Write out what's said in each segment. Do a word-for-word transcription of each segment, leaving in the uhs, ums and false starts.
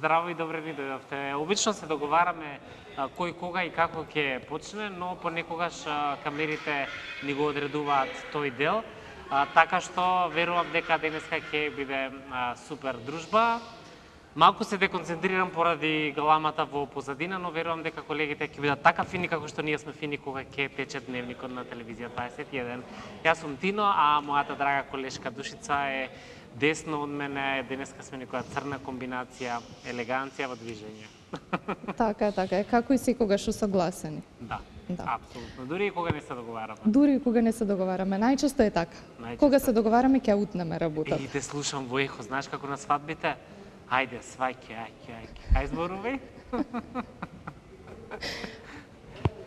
Здраво и добре ни дојдовте. Обично се договараме а, кој, кога и како ќе почне, но понекогаш а, камерите ни го одредуваат тој дел. А, така што верувам дека денеска ќе биде а, супер дружба. Малку се деконцентрирам поради галамата во позадина, но верувам дека колегите ќе бидат така фини како што ние сме фини кога ќе тече дневникот на телевизија дваесет и еден. Јас сум Тино, а мојата драга колешка Душица е десно од мене. Денеска сме некоја црна комбинација, елеганција во движење. Така е, така е. Како и секогаш усогласени. Да, Да. апсолутно. Дури и кога не се договараме. Дури и кога не се договараме. Најчесто е така. Најчесто. Кога се договараме, ќе утнеме работата. И те слушам во ехо, знаеш како на свадбите? Ајде, свајке, ајке, ајке. Ај зборувај.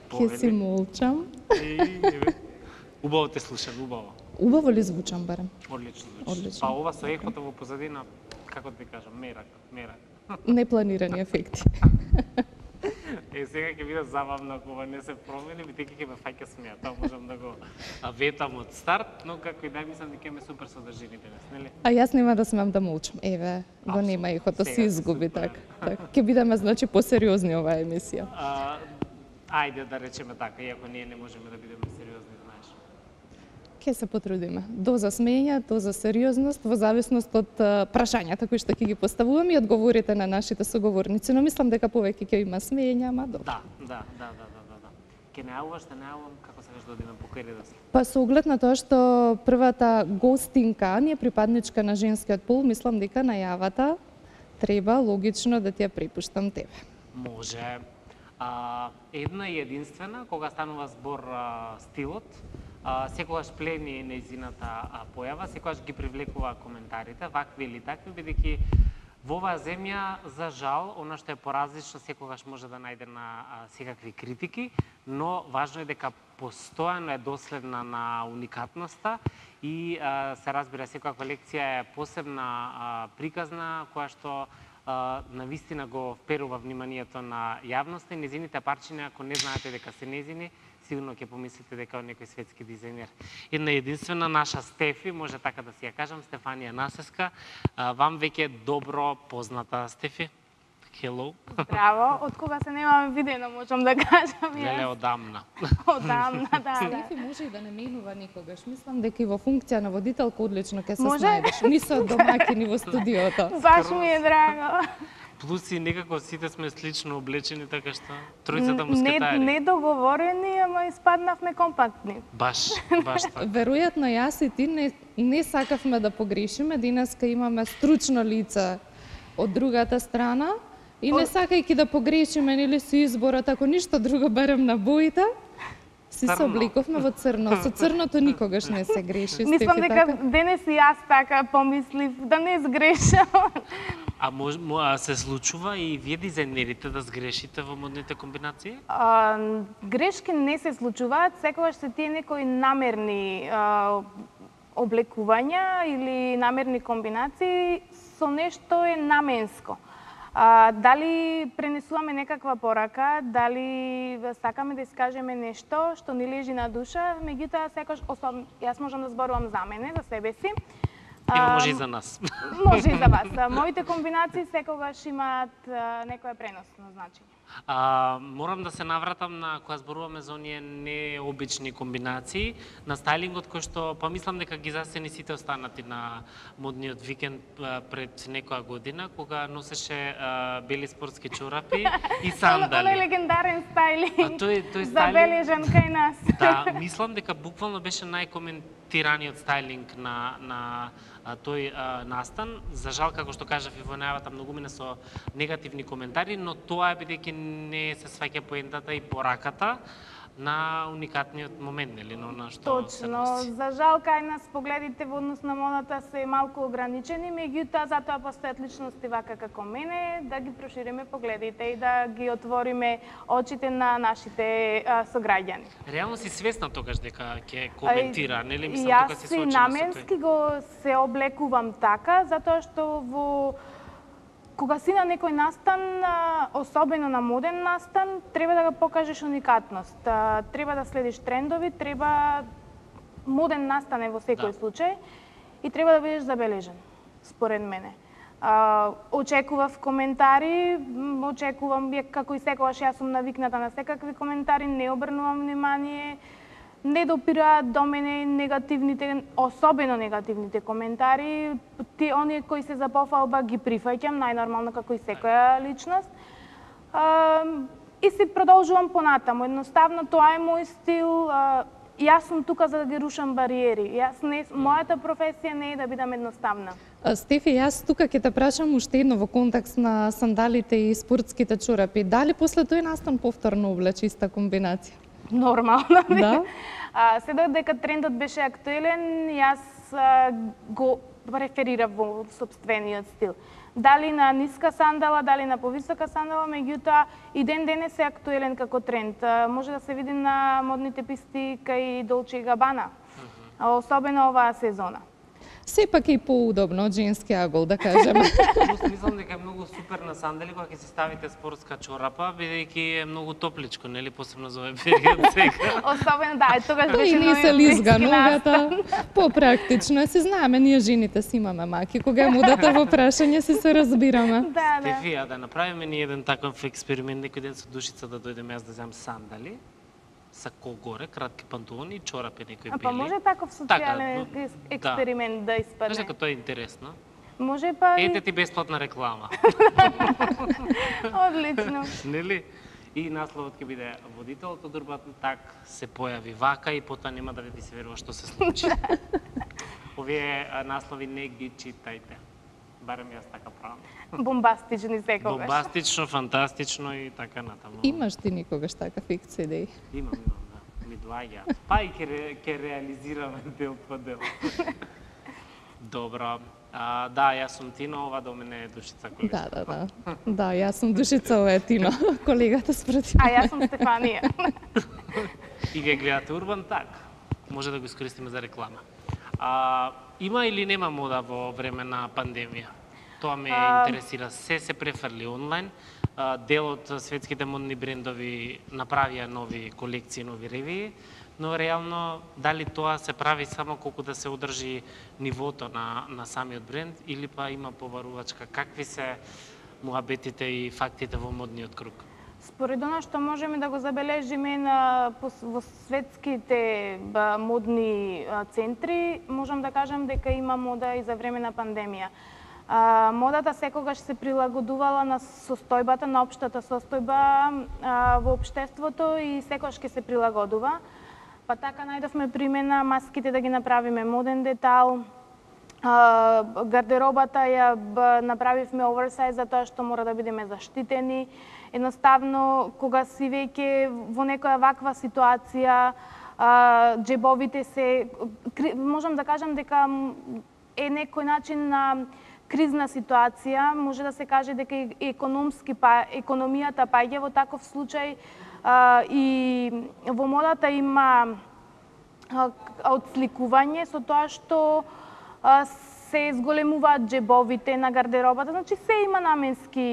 Ќе си молчам. Убаво те слушам, убаво. Убаво ли звучам барем? Одлично звучи. Одлично. Па ова со ехото во позадина, како да ти кажам, мерак, мерак. Непланирани ефекти. Е, сега ќе биде забавно ако ова не се промени, бидејќи ќе ме фаќа смеа. Тоа можам да го ветам од старт, но како и да мислам дека ме супер содржини денес, нели? А јас нема да смеам да молчам. Еве, го нема ехото, Сега си се изгуби супер. така. Так. Ќе бидеме значи посериозни оваа емисија. А, ајде да речеме така, иако ние не можеме да бидеме сериозни, знаеш. Ќе се потрудиме. Доза смење, доза сериозност, во зависност од а, прашањата кои што ќе ги поставуваме и одговорите на нашите соговорници. Но мислам дека повеќе ќе има смење, ама добро. Да, да, да, да, да, да, да. Ке најавуваш, те најавувам, како сакаш да одиме по кој редослед? Па со оглед на тоа што првата гостинка ни е припадничка на женскиот пол, мислам дека најавата треба логично да ти ја препуштам тебе. Може. А, една и единствена, кога станува збор а, стилот, а, секогаш плени нејзината а, појава, секогаш ги привлекува коментарите, вакви или такви, бидејќи во оваа земја, за жал, она што е поразлично секогаш може да најде на а, секакви критики, но важно е дека постојано е доследна на уникатноста и а, се разбира секоја лекција е посебна а, приказна која што а, навистина го вперува вниманието на јавноста и незините парчиња, ако не знаете дека се незини, сигурно ќе помислите дека е некој светски дизајнер. Една единствена наша Стефи, може така да си ја кажам, Стефанија Насеска, а, вам веќе добро позната. Стефи, hello. Здраво, од кога се немаме видено, можам да кажам јас. Леле, одамна. Одамна, да, да. Стефи може и да не менува никогаш. Мислам дека и во функција на водителка одлично ќе се Може? снајдеш. Ни со домаќини во студиото. Баш ми е драго. Плюс и некако сите сме слично облечени, така што тројцата Не, мускетари. не договорени, ама испаднавме компактни. Баш, баш така. Веројатно јас и ти не, не сакавме да погрешиме. Денеска имаме стручно лице од другата страна и не сакајќи да погрешиме нели со изборот, ако ништо друго барем на боите, си се Црно. облековме во црно. Со црното никогаш не се греши. Мислам Стефи, дека така? денес и јас така помислив да не сгрешам. А мож, мо- а се случува и вие дизајнерите да сгрешите во модните комбинации? А, грешки не се случуваат, секогаш се тие некои намерни а, облекувања или намерни комбинации со нешто е наменско. А, дали пренесуваме некаква порака, дали сакаме да искажеме нешто што ни лежи на душа, меѓутоа секогаш особ... јас можам да зборувам за мене, за себе си. Ево А, може и за нас. Може и за вас. А, Моите комбинации секогаш имаат а, некое преносно значење. А, морам да се навратам на кога зборуваме за оние необични комбинации на стајлингот кој што па мислам дека ги засени сите останати на модниот викенд а, пред некоја година кога носеше а, бели спортски чорапи и Оној сандали. легендарен А стајлинг, тој тој стајлинг забележан кај нас. да, мислам дека буквално беше најкоментираниот стајлинг на на а, тој а, настан. За жал, како што кажав и во најавата, многумина со негативни коментари, но тоа е бидејќи не се сваќа поентата и пораката на уникатниот момент, нели, но на што се Точно, носи. за жал кај нас погледите во однос на модата се малку ограничени, меѓутоа затоа постојат личности вака како мене, да ги прошириме погледите и да ги отвориме очите на нашите а, сограѓани. Реално си свесна тогаш дека ќе коментира, нели, мислам Јас тука си си соочена со наменски тој. го се облекувам така, затоа што во кога си на некој настан, а, особено на моден настан, треба да го покажеш уникатност. А, Треба да следиш трендови, треба моден настан е во секој Да. случај и треба да бидеш забележен, според мене. А, очекував коментари, м, очекувам, ја- како и секогаш јас сум навикната на секакви коментари, не обрнувам внимание, не допираат до мене негативните, особено негативните коментари. Ти оние кои се за пофалба ги прифаќам, најнормално како и секоја личност. А, и си продолжувам понатаму. Едноставно тоа е мој стил. А, јас сум тука за да ги рушам бариери. Јас не, мојата професија не е да бидам едноставна. А, Стефи, јас тука ќе те прашам уште едно во контекст на сандалите и спортските чорапи. Дали после тој настан повторно облече иста комбинација? Нормално. Да. А, се додека трендот беше актуелен, јас а, го преферирав во собствениот стил. Дали на ниска сандала, дали на повисока сандала, меѓутоа и ден денес е актуелен како тренд. А, може да се види на модните писти кај Dolce и Gabbana, а, особено оваа сезона. Сепак е и поудобно од женски агол, да кажеме. Просто мислам дека е многу супер на сандали кога ќе си ставите спортска чорапа, бидејќи е многу топличко, нели, посебно за овој период сега. Особено, да, тогаш Тоа беше и не се нови лизга блиски ногата. настан. Попрактично е, се знаеме, ние жените си имаме маки. Кога е мудата во прашање, си се разбираме. Да, да. Стефи, а да направиме ни еден таков експеримент, некој ден со Душица да дојдеме јас да земам сандали, сако горе, кратки панталони и чорапи некои бели. А па може таков социјален Така, ес- експеримент да Знаеш испадне. дека тоа е интересно. Може па и Ете ти бесплатна реклама, одлично. нели? И насловот ќе биде водителот од Урбан Так се појави вака и потоа нема да ви се верува што се случи. Овие а, наслови не ги читајте. Барем јас така правам. Бомбастични секогаш. Бомбастично, фантастично и така натаму. Имаш ти никогаш такав икс идеи? Имам, имам, да. Ми доаѓа. Па и ќе, ре, ќе реализираме дел по дел. Добро. А, да, јас сум Тино, ова до мене е Душица Колешкова. Да, да, да. Да, јас сум Душица, ова е Тино, колегата спротив. А јас сум Стефанија. И вие гледате Урбан Так. Може да го искористиме за реклама. А, има или нема мода во време на пандемија? Тоа ме А... интересира. Се се префрли онлайн. А, дел од светските модни брендови направија нови колекции, нови ревии, но реално дали тоа се прави само колку да се одржи нивото на, на самиот бренд или па има побарувачка? Какви се муабетите и фактите во модниот круг? Според она што можеме да го забележиме на пос- во светските ба, модни а, центри, можам да кажам дека има мода и за време на пандемија. А, модата секогаш се прилагодувала на состојбата, на општата состојба а, во општеството и секогаш ќе се прилагодува. Па така најдовме примена маските да ги направиме моден детал, а, гардеробата ја б, направивме оверсайз за тоа што мора да бидеме заштитени. Едноставно, кога си веќе во некоја ваква ситуација, а, джебовите се, кри- можам да кажам дека м, е некој начин на кризна ситуација, може да се каже дека и економски па економијата паѓа во таков случај, а, и во модата има а, отсликување со тоа што а, се зголемуваат джебовите на гардеробата, значи се има наменски,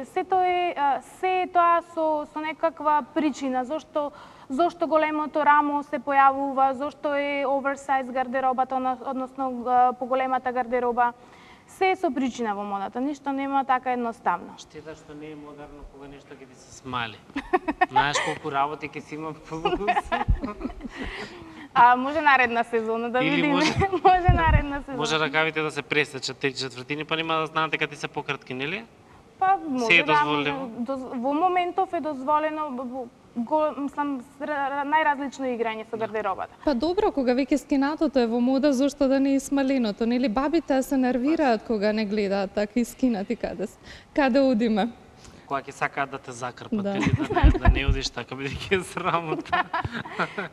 се тоа е а, се е тоа со со некаква причина, зошто зошто големото рамо се појавува, зошто е оверсайз гардеробата, односно а, поголемата гардероба. Се е со причина во модата, ништо нема така едноставно. Штета што не е модерно кога нешто ќе ти се смали. Знаеш колку работи ќе си има плюс. А може наредна сезона да Или видиме. може- може наредна сезона. Може ракавите да се пресечат три четвртини, па нема да знаат дека ти се пократки, нели? Па може Се е да, дозволено? може, доз, во моментов е дозволено во- го, мислам, с- ра- најразлично играње со гардеробата. Па добро, кога веќе скинатото е во мода, зошто да не и смаленото? Нели бабите се нервираат кога не гледаат така скинати каде с- каде одиме? Кога ќе сакаат да те закрпат Да. или да не, да не одиш така, бидејќи е срамота.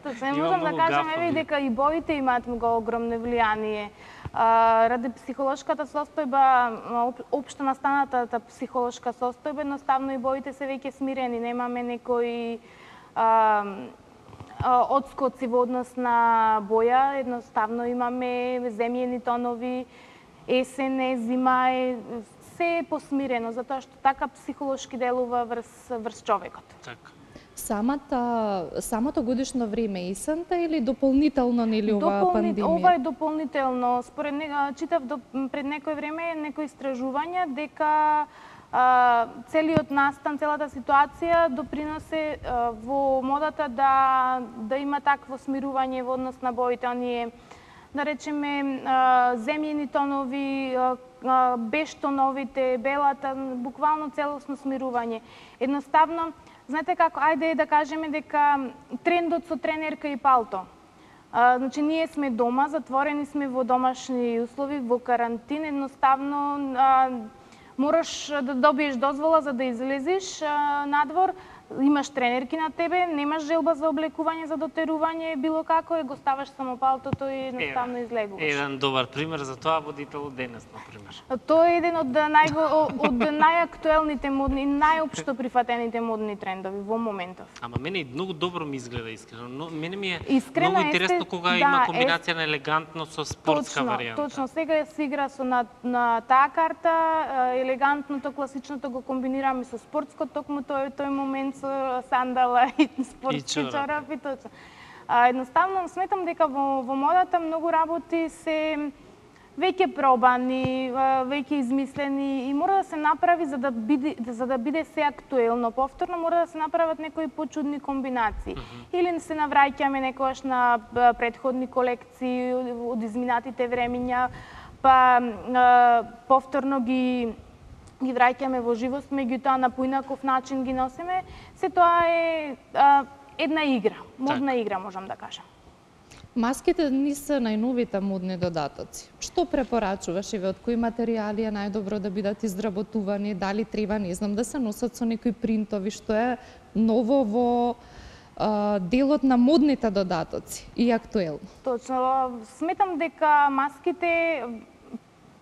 Точно, Има можам да многу кажам гафови. еве дека и боите имаат многу огромно влијание. А, ради психолошката состојба, а, об- општо настанатата психолошка состојба, едноставно и боите се веќе смирени, немаме некои а, а, одскоци во однос на боја, едноставно имаме земјени тонови, есен е, зима е, се е посмирено, затоа што така психолошки делува врз, врз човекот. Така. Самата, самото годишно време есента или дополнително нели оваа Дополни... пандемија? Ова е дополнително. Според не... читав до... пред некој време некои истражувања дека а, целиот настан, целата ситуација доприносе а, во модата да да има такво смирување во однос на боите, оние да речеме а, земјени тонови, а, бештоновите, белата, буквално целосно смирување. Едноставно, знаете како, ајде да кажеме дека трендот со тренерка и палто. А, значи, ние сме дома, затворени сме во домашни услови, во карантин, едноставно а, мораш да добиеш дозвола за да излезеш а, надвор, имаш тренерки на тебе, немаш желба за облекување, за дотерување, било како е, го ставаш само палтото и едноставно излегуваш. Еден добар пример за тоа водител денес, например. Тоа е еден од најго, од најактуелните модни, најопшто прифатените модни трендови во моментов. Ама мене и многу добро ми изгледа искрено. Но мене ми е Искрено, многу интересно есте, кога да, има комбинација е... на елегантно со спортска точно, варијанта. Точно, сега се игра со на, на таа карта, елегантното, класичното го комбинираме со спортско, токму тој тој момент со сандала и спортски и чорапи, точно. А, едноставно сметам дека во, во модата многу работи се веќе пробани, веќе измислени и мора да се направи за да биде за да биде се актуелно. Повторно мора да се направат некои почудни комбинации. Mm -hmm. Или се навраќаме некогаш на претходни колекции од изминатите времиња, па повторно ги ги враќаме во живост, меѓутоа на поинаков начин ги носиме. Се тоа е а, една игра, модна так. игра, можам да кажам. Маските не се најновите модни додатоци. Што препорачуваш и од кои материјали е најдобро да бидат изработувани, дали треба, не знам, да се носат со некои принтови, што е ново во а, делот на модните додатоци и актуелно? Точно, сметам дека маските,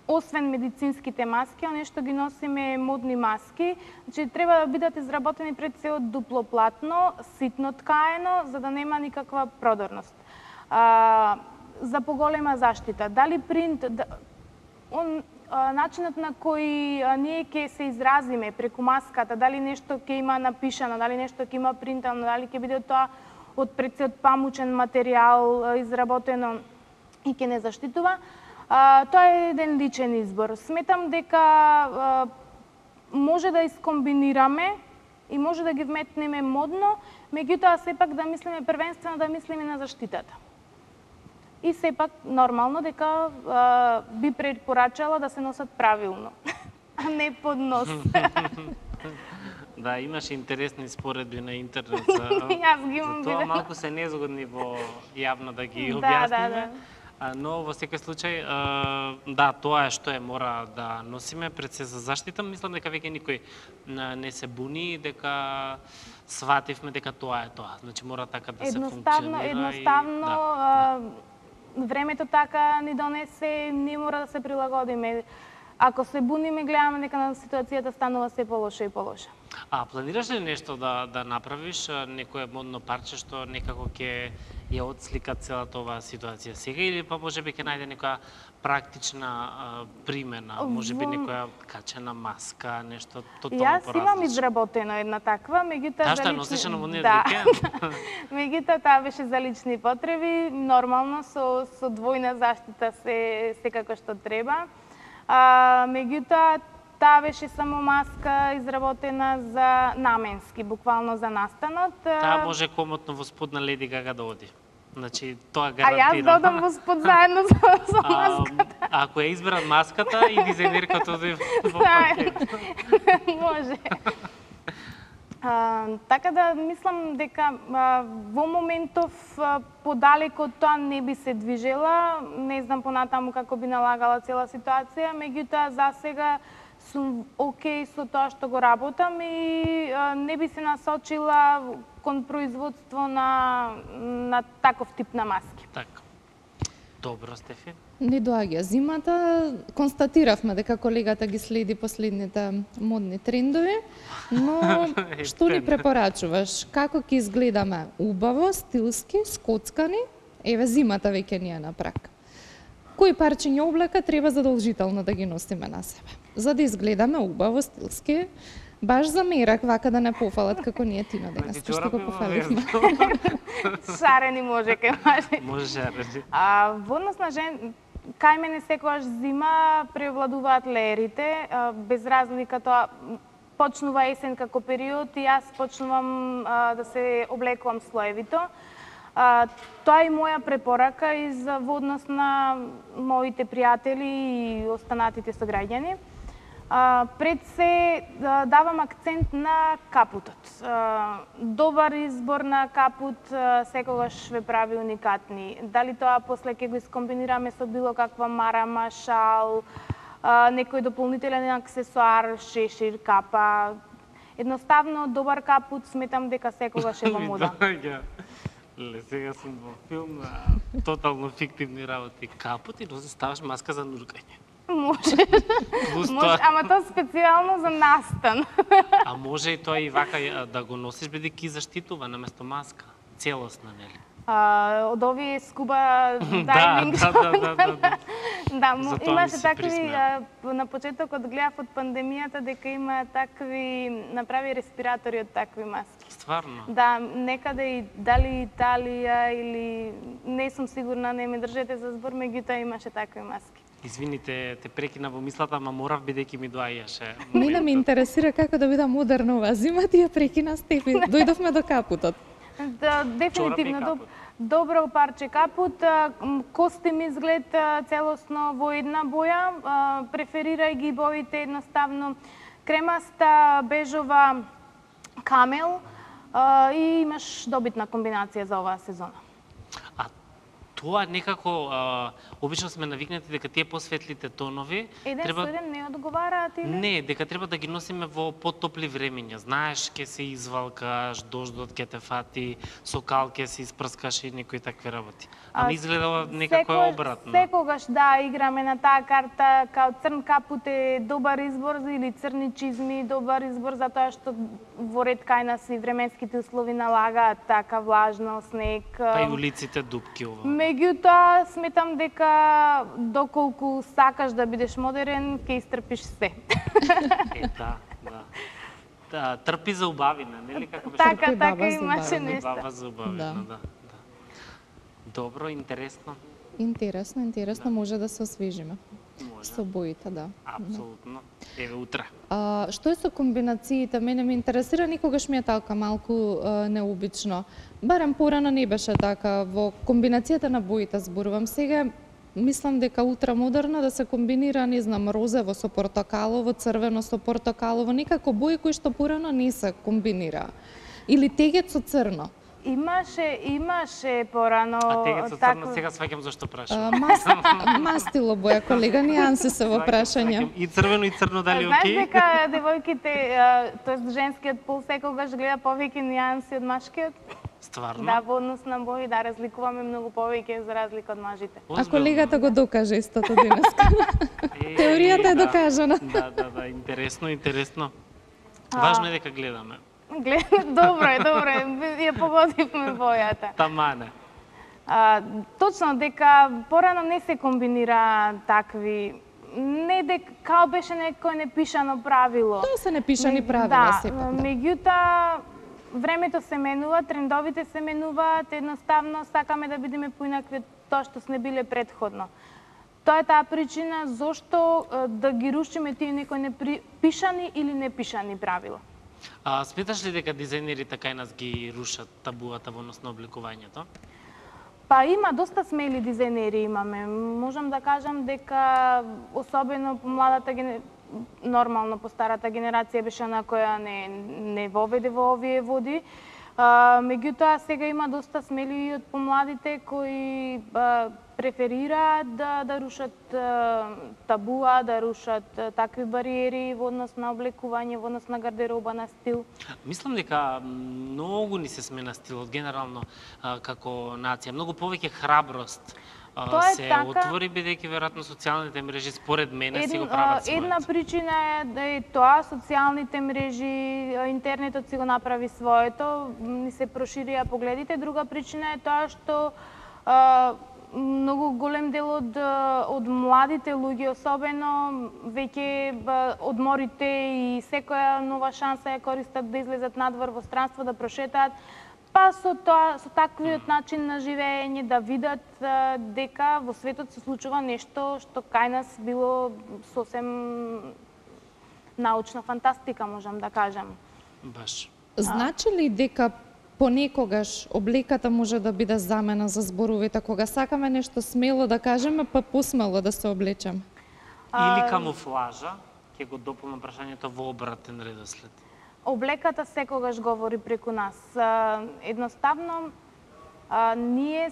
освен медицинските маски, оние што ги носиме модни маски, значи треба да бидат изработени пред се од дуплоплатно, ситно ткаено, за да нема никаква продорност. А, за поголема заштита. Дали принт, да, он, а, начинот на кој а, ние ќе се изразиме преку маската, дали нешто ќе има напишано, дали нешто ќе има принтано, дали ќе биде тоа од пред се од памучен материјал а, изработено и ќе не заштитува, а, тоа е еден личен избор. Сметам дека а, може да искомбинираме и може да ги вметнеме модно, меѓутоа сепак да мислиме првенствено да мислиме на заштитата. И сепак нормално дека а, би препорачала да се носат правилно, а не под нос. Да, имаше интересни споредби на интернет за, Јас ги имам за тоа, видено. малку се незгодни во јавно да ги Да, објасниме. да, да. Но во секој случај, да, тоа е што е мора да носиме пред се за заштита. Мислам дека веќе никој не се буни, дека свативме дека тоа е тоа. Значи мора така да се Едноставно, функционира. едноставно, и, а, да. времето така ни донесе, не мора да се прилагодиме. Ако се буниме, гледаме дека на ситуацијата станува се полоша и полоша. А планираш ли нешто да да направиш, некое модно парче што некако ќе ја отслика целата оваа ситуација сега, или па можеби ќе најде некоја практична а, примена, можеби Во... некоја качена маска, нешто тотално Јас поразлично? имам изработено една таква, меѓутоа Таа за што ја лични... носиш на модниот да. викенд? Меѓутоа таа беше за лични потреби, нормално со со двојна заштита се секако што треба. А, меѓутоа таа беше само маска изработена за наменски, буквално за настанот. Таа може комотно во спод на Леди Гага да оди. Значи, тоа А гарантирам. јас додам во спод заедно со, со маската. А, ако ја изберат маската и дизајнерката оди во пакет. Може. А, така да мислам дека а, во моментов а, подалеку од тоа не би се движела, не знам понатаму како би налагала цела ситуација, меѓутоа за сега сум окей со тоа што го работам и а, не би се насочила кон производство на на таков тип на маски. Така. Добро, Стефи. Не доаѓа зимата, констатиравме дека колегата ги следи последните модни трендови, но што ни препорачуваш? Како ќе изгледаме убаво, стилски, скоцкани? Еве зимата веќе ни е на прак. Кои парчиња облека треба задолжително да ги носиме на себе? За да изгледаме убаво, стилски, Баш замерак вака да не пофалат како ние Тино денес, што го пофаливме. Шарени може кај мажи. Може шарени. А во однос на жен, кај мене секогаш зима преовладуваат леерите, без разлика тоа почнува есен како период и јас почнувам а, да се облекувам слоевито. А, тоа е моја препорака и за во однос на моите пријатели и останатите сограѓани. А, пред се да, давам акцент на капутот. А, добар избор на капут а, секогаш ве прави уникатни. Дали тоа после ќе го искомбинираме со било каква марама, шал, а, некој дополнителен аксесуар, шешир, капа. Едноставно добар капут сметам дека секогаш е во мода. Ле, сега сум во филм на тотално фиктивни работи. Капут и носи ставаш маска за нуркање. Може. Плюс Може, тоа. ама тоа специјално за настан. А може и тоа и вака да го носиш бидејќи заштитува наместо маска. Целосна, нели? А, од овие скуба дайвинг. Да, да, да, да, да. Да, Затоа ми имаше се такви, присмеа. а, на почетокот гледав од пандемијата дека има такви, направи респиратори од такви маски. Стварно? Да, некаде и дали Италија или не сум сигурна, не ме држете за збор, меѓутоа имаше такви маски. Извините, те прекина во мислата, ама морав бидејќи ми доаѓаше. Мене ме интересира како да биде модерна оваа зима, ти ја прекина Стефи. Дојдовме до капутот. Да, дефинитивно Чорапи и доб, капут. добро парче капут, а, м, костим изглед а, целосно во една боја, а, преферирај ги боите едноставно кремаста, бежова, камел а, и имаш добитна комбинација за оваа сезона. А тоа некако, а, обично сме навикнати дека тие посветлите тонови Еден треба... со еден не одговараат или? Не, дека треба да ги носиме во потопли времења. Знаеш, ќе се извалкаш, дождот ќе те фати, со кал ќе се испрскаш и некои такви работи. Ама изгледа некако е Секогаш- обратно. Секогаш да играме на таа карта, као црн капут е добар избор или црни чизми добар избор затоа што во ред кај нас и временските услови налагаат така влажно, снег. Па и улиците дупки ова. Меѓутоа, сметам дека доколку сакаш да бидеш модерен, ќе истрпиш се. Е, да, да. Да, трпи за убавина, нели како беше? Така, Трпи така баба за имаше убавина. нешто. Баба за убавина, Да. да. да. Добро, интересно. Интересно, интересно, може да се освежиме. Може. Со боите, да. Апсолутно. Еве утре. А, што е со комбинациите? Мене ме интересира, никогаш ми е така малку а, необично. Барем порано не беше така, во комбинацијата на боите зборувам. Сега мислам дека ултрамодерно да се комбинира, не знам, розево со портокалово, црвено со портокалово, некако бои кои што порано не се комбинира. Или тегет со црно. Имаше, имаше порано А тегет со такво- црно, сега сваќам зашто А, прашам. мас, мастило боја, колега, нијанси се во Сваќам, прашање. сваќам. И црвено и црно дали Знаеш окей? дека девојките, тоест женскиот пол секогаш гледа повеќе нијанси од машкиот? Стварно? Да, во однос на бои, да, разликуваме многу повеќе за разлика од мажите. А Озбилно? колегата го докаже истото денеска. Е, Теоријата е да. докажана. Да, да, да, интересно, интересно. Важно е дека гледаме. Глед, добро е, добро е, ја погодивме бојата. Тамане. А, точно дека порано не се комбинира такви, не дека као беше некој непишано правило. Тоа се непишани Меѓу- правила да, сепак. Да. меѓутоа времето се менува, трендовите се менуваат, едноставно сакаме да бидеме поинакви од тоа што сме биле предходно. Тоа е таа причина зошто е, да ги рушиме тие некои непишани или непишани правила. А сметаш ли дека дизајнерите кај нас ги рушат табуата во однос на обликувањето? Па има доста смели дизајнери имаме. Можам да кажам дека особено по младата ген... нормално по старата генерација беше на која не не воведе во овие води. А, меѓутоа сега има доста смели и од помладите кои а, преферираат да да рушат а, табуа, да рушат а, такви бариери во однос на облекување, во однос на гардероба, на стил. Мислам дека многу ни се смена стилот генерално а, како нација. Многу повеќе храброст а, Тоа е се така. отвори бидејќи веројатно социјалните мрежи според мене си го Ед- прават а, Една своето. причина е да е тоа, социјалните мрежи, а, интернетот си го направи своето, ни се проширија погледите. Друга причина е тоа што а, многу голем дел од од младите луѓе особено веќе одморите и секоја нова шанса ја користат да излезат надвор во странство, да прошетаат, па со тоа, со таквиот начин на живење да видат дека во светот се случува нешто што кај нас било сосем научна фантастика, можам да кажам. Баш. Значи ли дека понекогаш облеката може да биде замена за зборовите, кога сакаме нешто смело да кажеме, па посмело да се облечеме? Или камуфлажа, ќе го дополнам прашањето во обратен редослед. Облеката секогаш говори преку нас. Едноставно, ние,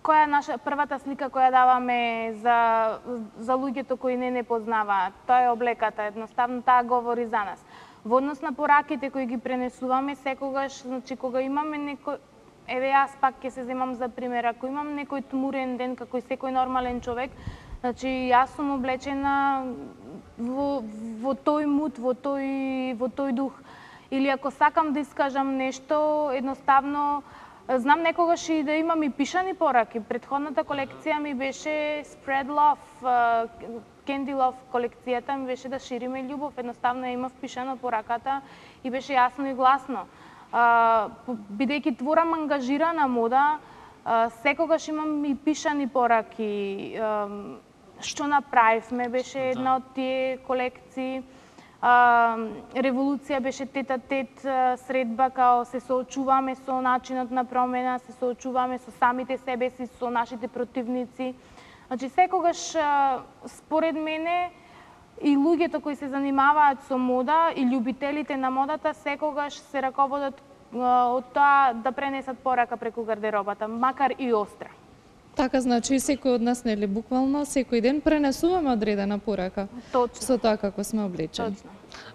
која е наша првата слика која даваме за, за луѓето кои не не познаваат? Тоа е облеката, едноставно таа говори за нас. Во однос на пораките кои ги пренесуваме, секогаш, значи, кога имаме некој, еве јас пак ќе се земам за пример, ако имам некој тмурен ден, како и секој нормален човек, значи, јас сум облечена во, во тој мут, во тој, во тој дух. Или ако сакам да искажам нешто, едноставно, знам некогаш и да имам и пишани пораки. Претходната колекција ми беше Spread Love, Candy Love колекцијата ми беше да шириме љубов. Едноставно ја имав пишано пораката и беше јасно и гласно. Бидејќи творам ангажирана мода, секогаш имам и пишани пораки. Што направивме беше една од тие колекции. Револуција беше тет-а-тет средба, као се соочуваме со начинот на промена, се соочуваме со самите себе си, со нашите противници. Значи, секогаш, според мене, и луѓето кои се занимаваат со мода, и љубителите на модата, секогаш се раководат од тоа да пренесат порака преку гардеробата, макар и остра. Така, значи, и секој од нас, нели, буквално, секој ден пренесуваме одредена порака. Точно. Со тоа како сме облечени. Точно.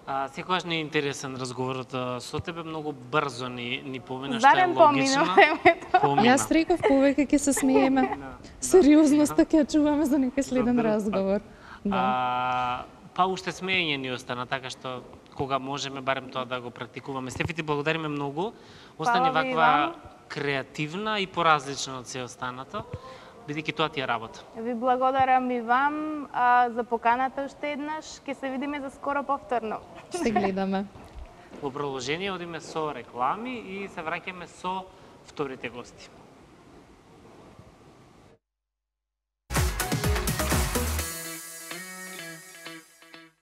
А, секогаш не е интересен разговорот со тебе, многу брзо ни, ни помина, што е Зарем логично. помина времето. Помина. Јас реков повеќе ќе се смееме. Сериозноста ќе ја чуваме за некој следен разговор. Да. А, па уште смеење ни остана, така што кога можеме барем тоа да го практикуваме. Стефи, ти благодариме многу. Остани Фала ви и ваква вам. креативна и поразлична од се останато, бидејќи тоа ти е работа. Ви благодарам и вам а, за поканата уште еднаш. Ќе се видиме за скоро повторно. Ще гледаме. Во продолжение одиме со реклами и се враќаме со вторите гости.